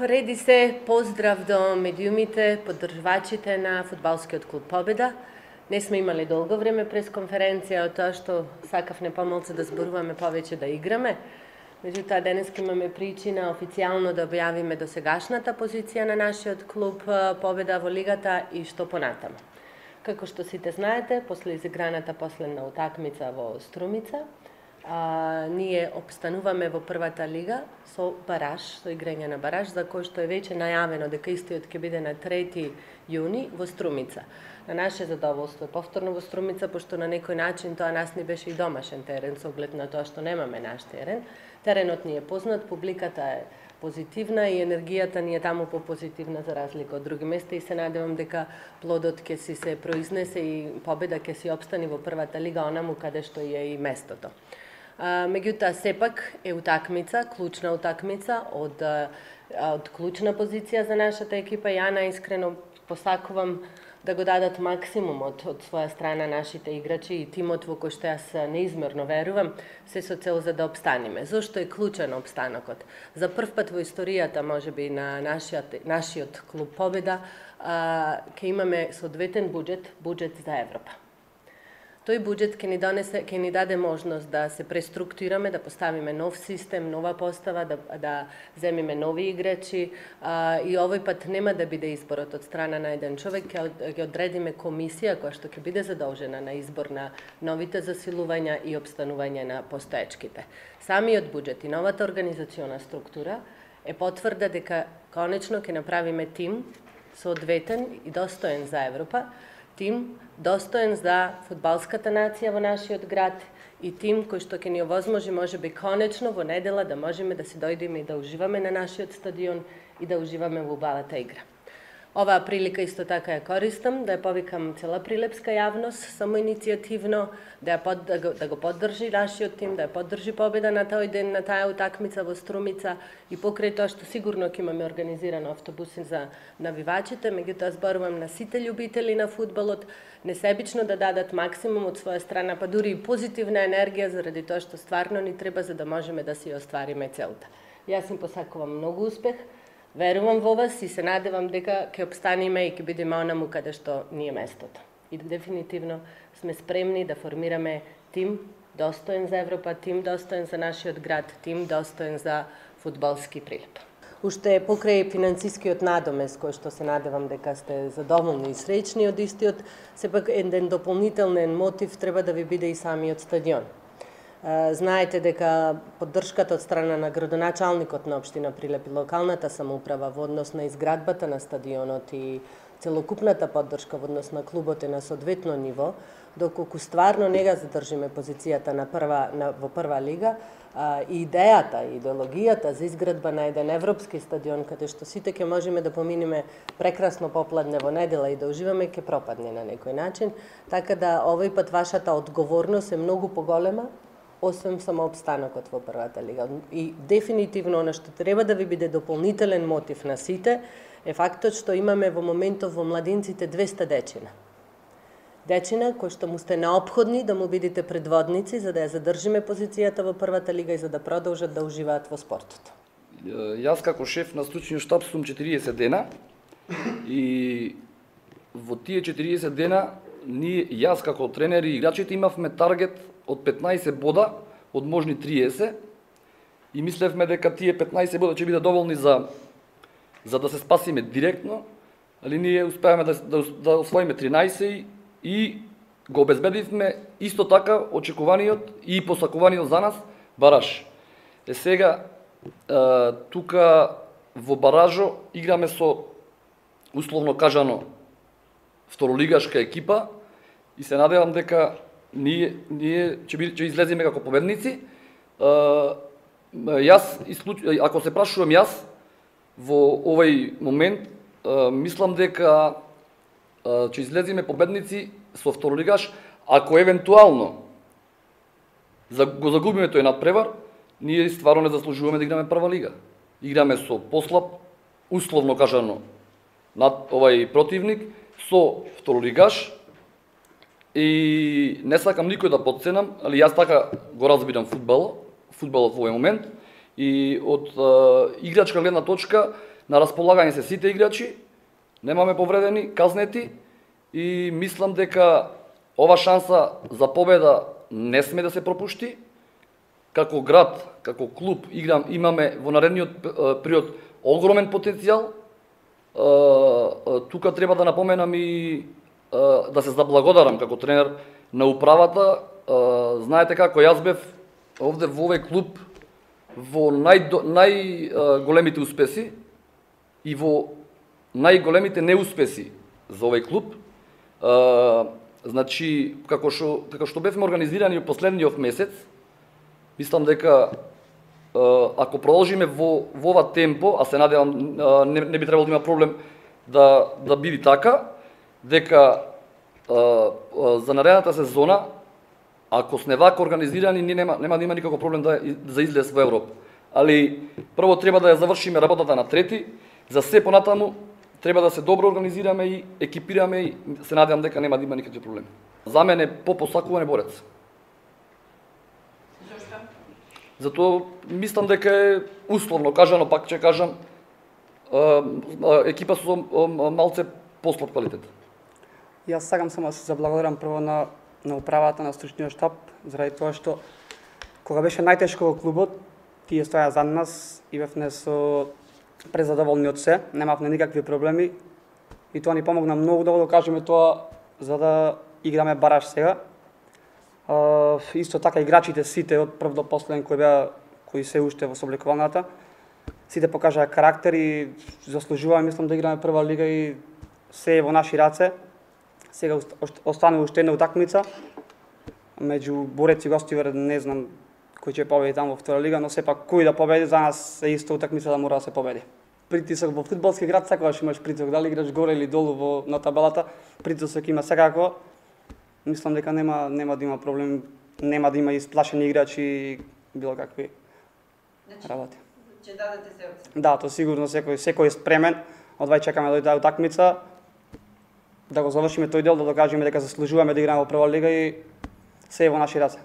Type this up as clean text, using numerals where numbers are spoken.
Реди се поздрав до медиумите, поддржувачите на фудбалскиот клуб Победа. Не сме имали долго време пресконференција од тоа што сакавме помалку да зборуваме, повеќе да играме. Меѓутоа, денеска имаме причина официјално да објавиме досегашната позиција на нашиот клуб Победа во лигата и што понатаму. Како што сите знаете, после изиграната последна утакмица во Струмица, ние обстануваме во првата лига со бараж, со играње на бараж, за кој што е веќе најавено дека истиот ќе биде на 3 јуни во Струмица. На наше задоволство е повторно во Струмица, пошто на некој начин тоа нас ни беше и домашен терен, со оглед на тоа што немаме наш терен. Теренот ни е познат, публиката е позитивна и енергијата ни е таму попозитивна за разлика од други места и се надевам дека плодот ќе си се произнесе и Победа ќе си обстани во првата лига онаму каде што е и местото. Меѓутоа, сепак е утакмица, клучна утакмица од клучна позиција за нашата екипа. Ја наискрено посакувам да го дадат максимумот од своја страна нашите играчи и тимот во кој што јас неизмерно верувам, се со цел за да обстаниме. Зошто е клучен обстанокот? За прв пат во историјата, можеби, на нашиот клуб Победа, ќе имаме соодветен буџет за Европа. Тој буџет ќе ни даде можност да се преструктурираме, да поставиме нов систем, нова постава, да земиме нови играчи и овој пат нема да биде изборот од страна на еден човек, ќе одредиме комисија која што ќе биде задолжена на избор на новите засилувања и обстанување на постоечките. Самиот буџет и новата организациона структура е потврда дека конечно ќе направиме тим соодветен и достоен за Европа, тим достоен за фудбалската нација во нашиот град и тим кој што ќе ни овозможи можеби конечно во недела да можеме да си дојдеме и да уживаме на нашиот стадион и да уживаме во убавата игра. Оваа прилика исто така ја користам да ја повикам цела прилепска јавност самоиницијативно да го поддржи нашиот тим, да ја поддржи Победа на тој ден, на таа утакмица во Струмица и покрај тоа што сигурно ќе имаме организирано автобуси за навивачите, меѓутоа зборувам на сите љубители на фудбалот, несебично да дадат максимум од своја страна, па дури и позитивна енергија заради тоа што стварно ни треба за да можеме да си оствариме целта. Јас им посакувам многу успех. Верувам во вас и се надевам дека ќе обстаниме и ќе бидеме онаму каде што ни е местото. И дефинитивно сме спремни да формираме тим достоен за Европа, тим достоен за нашиот град, тим достоен за фудбалски прилеп. Уште покрај финансискиот надомес, кој што се надевам дека сте задоволни и среќни од истиот, сепак еден дополнителен мотив треба да ви биде и самиот стадион. Знаете дека поддршката од страна на градоначалникот на општина Прилеп и локалната самоуправа во однос на изградбата на стадионот и целокупната поддршка во однос на клубот е на соодветно ниво, доколку стварно не га задржиме позицијата во прва лига, и идејата, идеологијата за изградба на еден европски стадион, каде што сите ќе можеме да поминеме прекрасно попладне во недела и да уживаме, ќе пропадне на некој начин. Така да овој пат вашата одговорност е многу поголема, освен само обстанокот во првата лига. И дефинитивно она што треба да ви биде дополнителен мотив на сите е фактот што имаме во моментов во младинците 200 дечина. Дечина кои што му сте неопходни да му бидете предводници за да ја задржиме позицијата во првата лига и за да продолжат да уживаат во спортот. Јас како шеф на стручниот штаб сум 40 дена и во тие 40 дена јас како тренер и играчите имавме таргет од 15 бода од можни 30 и мислевме дека тие 15 бода ќе бидат доволни за да се спасиме директно, али ние успеавме да освоиме 13 и го обезбедивме исто така очекуваниот и посакуваниот за нас бараж. Сега тука во баражо играме со условно кажано второлигашка екипа и се надевам дека ние ќе излеземе како победници. Ако се прашувам јас, во овој момент, мислам дека ќе излеземе победници со второлигаш, ако евентуално го загубиме тој надпревар, ние стварно не заслужуваме да играме прва лига. Играме со послаб, условно кажано, над овај противник, со второлигаш, и не сакам никој да потценам, али јас така го разбирам фудбалот во овој момент И од играчка гледна точка на располагање се сите играчи, немаме повредени, казнети и мислам дека ова шанса за победа не сме да се пропушти. Како град, како клуб имаме во наредниот период огромен потенцијал. Тука треба да напоменам и да се заблагодарам како тренер на управата. Знаете како јас бев овде во овој клуб во најголемите успеси и во најголемите неуспеси за овој клуб. Значи, како што бевме организирани во последниот месец, мислам дека ако продолжиме во ова темпо, а се надевам не би требало да има проблем да биде така, дека за наредната сезона, ако сме вака организирани, нема да има никаков проблем за излез во Европа. Али прво треба да ја завршиме работата на трети, за се понатаму треба да се добро организираме и екипираме и се надевам дека нема да има никакви проблеми. За мене посакуван е борец. Зошто? Затоа мислам дека е условно кажано, пак ќе кажам, екипа со малце послаб квалитет. Јас сакам само да се заблагодарам прво на управата, на стручниот штаб, заради тоа што кога беше најтешко во клубот, тие стоја за нас и бевме со презадоволни од се, немавме никакви проблеми и тоа ни помогна многу да го кажеме тоа за да играме бараж сега. Исто така играчите сите од прв до последен кои се уште во собликуваната, сите покажаа карактер и заслужуваме, мислам, да играме прва лига и се е во наши раце. Сега останува уште една утакмица меѓу Борец и Гостивар, не знам кој ќе победи таму во втора лига, но сепак кој да победи за нас е исто утакмица да мора да се победи. Притисок во фудбалски град секогаш имаш притисок, дали играш горе или долу на табелата, притисок има секако. Мислам дека нема да има проблем, нема да има исплашени играчи и било какви работи. Ќе дадете се од се? Да, тоа сигурно секој е спремен. Одвај чекаме да дојде утакмица, да го завршиме тој дел, да докажеме дека заслужуваме да играме во прва лига и се е во наши раце.